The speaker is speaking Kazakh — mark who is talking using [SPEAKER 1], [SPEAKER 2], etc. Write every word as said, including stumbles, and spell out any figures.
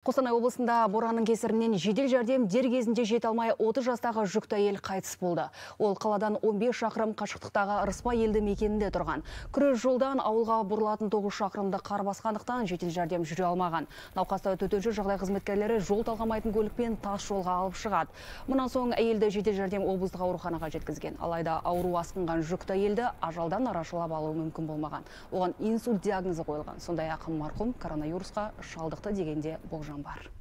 [SPEAKER 1] Қостанай облысында боранның кесірінен жедел жәрдем дер кезінде жете алмай отыз жастағы жүкті әйел қайтыс болды. Ол қаладан он бес шақырым қашықтықтағы Ырыспай елді мекенінде тұрған. Күрес жолдан ауылға бұрылатын тоғыз шақырымды қар басқандықтан жедел жәрдем жүре алмаған. Науқасты төтенше жағдай қызметкерлері жол талғамайтын көлікпен тас жолға алып шығады. Мұнан соң әйелді жедел жәрдем облыстық ауруханаға жеткізген. Алайда ауру асқынған жүкті әйелді ажалдан арашалап алу мүмкін болмаған. Оған инсульт диагнозы қойылған. Сондай-ақ марқұм коронавирусқа шалдықты дегенде болжам бар.